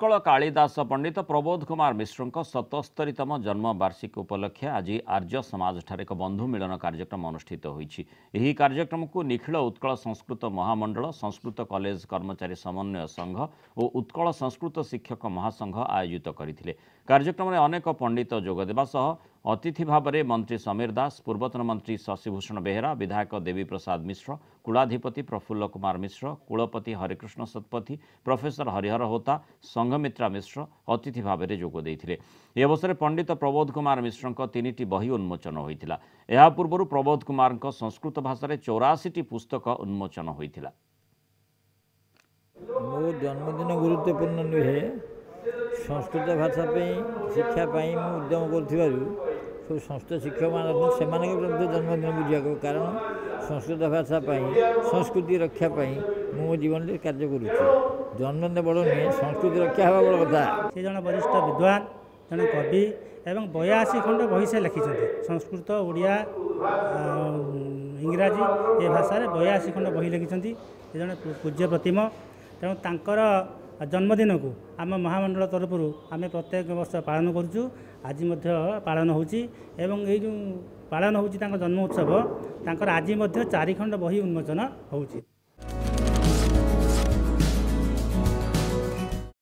ଉତ୍କଳ କାଳିଦାସ ପଣ୍ଡିତ ପ୍ରବୋଧ କୁମାର ମିଶ୍ରଙ୍କ 77ତମ ଜନ୍ମ ବାର୍ଷିକୀ ଉପଲକ୍ଷେ ଆଜି ଆର୍ଯ୍ୟ ସମାଜଠାରେ ଏକ ବନ୍ଧୁ ମିଳନ କାର୍ଯ୍ୟକ୍ରମ ଅନୁଷ୍ଠିତ ହୋଇଛି। ଏହି କାର୍ଯ୍ୟକ୍ରମକୁ ନିଖିଳ ଉତ୍କଳ ସଂସ୍କୃତ ମହାମଣ୍ଡଳ, ସଂସ୍କୃତ କଲେଜ କର୍ମଚାରୀ ସମନ୍ୱୟ ସଂଘ ଓ ଉତ୍କଳ ସଂସ୍କୃତ ଶିକ୍ଷକ ମହାସଂଘ ଆୟୋଜିତ କରିଥିଲେ। କାର୍ଯ୍ୟକ୍ରମରେ ଅନେକ ପଣ୍ଡିତ ଯୋଗଦେବା ସହ ଅତିଥି ଭାବରେ ମନ୍ତ୍ରୀ ସମୀର ଦାସ, ପୂର୍ବତନ ମନ୍ତ୍ରୀ ଶଶିଭୂଷଣ ବେହେରା, ବିଧାୟକ ଦେବୀ ପ୍ରସାଦ ମିଶ୍ର, କୁଳାଧିପତି ପ୍ରଫୁଲ୍ଲ କୁମାର ମିଶ୍ର, କୁଳପତି ହରେକୃଷ୍ଣ ଶତପଥୀ, ପ୍ରଫେସର ହରିହର ହୋତା, ସଂଘମିତ୍ରା ମିଶ୍ର ଅତିଥି ଭାବରେ ଯୋଗ ଦେଇଥିଲେ। ଏହି ଅବସରରେ ପଣ୍ଡିତ ପ୍ରବୋଧ କୁମାର ମିଶ୍ରଙ୍କ 3ଟି ବହି ଉନ୍ମୋଚନ ହୋଇଥିଲା। ଏହା ପୂର୍ବରୁ ପ୍ରବୋଧ କୁମାରଙ୍କ ସଂସ୍କୃତ ଭାଷାରେ 84ଟି ପୁସ୍ତକ ଉନ୍ମୋଚନ ହୋଇଥିଲା। ମୋ ଜନ୍ମଦିନ ଗୁରୁତ୍ୱପୂର୍ଣ୍ଣ ନୁହେଁ, ସଂସ୍କୃତ ଭାଷା ପାଇଁ ଶିକ୍ଷା ପାଇଁ ମୁଁ ଉଦ୍ୟମ କରୁଥିବାରୁ ସବୁ ସଂସ୍କୃତ ଶିକ୍ଷକମାନେ ଅଛନ୍ତି, ସେମାନଙ୍କ ମଧ୍ୟ ଜନ୍ମଦିନ ବୁଝିବାକୁ, କାରଣ ସଂସ୍କୃତ ଭାଷା ପାଇଁ, ସଂସ୍କୃତି ରକ୍ଷା ପାଇଁ ମୁଁ ମୋ ଜୀବନରେ କାର୍ଯ୍ୟ କରୁଛି। ଜନ୍ମଦିନ ବଡ଼ ନୁହେଁ, ସଂସ୍କୃତି ରକ୍ଷା ହେବା ବଡ଼ କଥା। ସେ ଜଣେ ବରିଷ୍ଠ ବିଦ୍ୱାନ, ଜଣେ କବି ଏବଂ 82 ଖଣ୍ଡ ବହି ସେ ଲେଖିଛନ୍ତି। ସଂସ୍କୃତ, ଓଡ଼ିଆ, ଇଂରାଜୀ ଏ ଭାଷାରେ 82 ଖଣ୍ଡ ବହି ଲେଖିଛନ୍ତି। ସେ ଜଣେ ପୂଜ୍ୟ ପ୍ରତିମ। ତେଣୁ ତାଙ୍କର ଜନ୍ମଦିନକୁ ଆମ ମହାମଣ୍ଡଳ ତରଫରୁ ଆମେ ପ୍ରତ୍ୟେକ ବର୍ଷ ପାଳନ କରୁଛୁ। ଆଜି ମଧ୍ୟ ପାଳନ ହେଉଛି ଏବଂ ଏଇ ଯେଉଁ ପାଳନ ହେଉଛି ତାଙ୍କ ଜନ୍ମ ଉତ୍ସବ, ତାଙ୍କର ଆଜି ମଧ୍ୟ 4 ଖଣ୍ଡ ବହି ଉନ୍ମୋଚନ ହେଉଛି।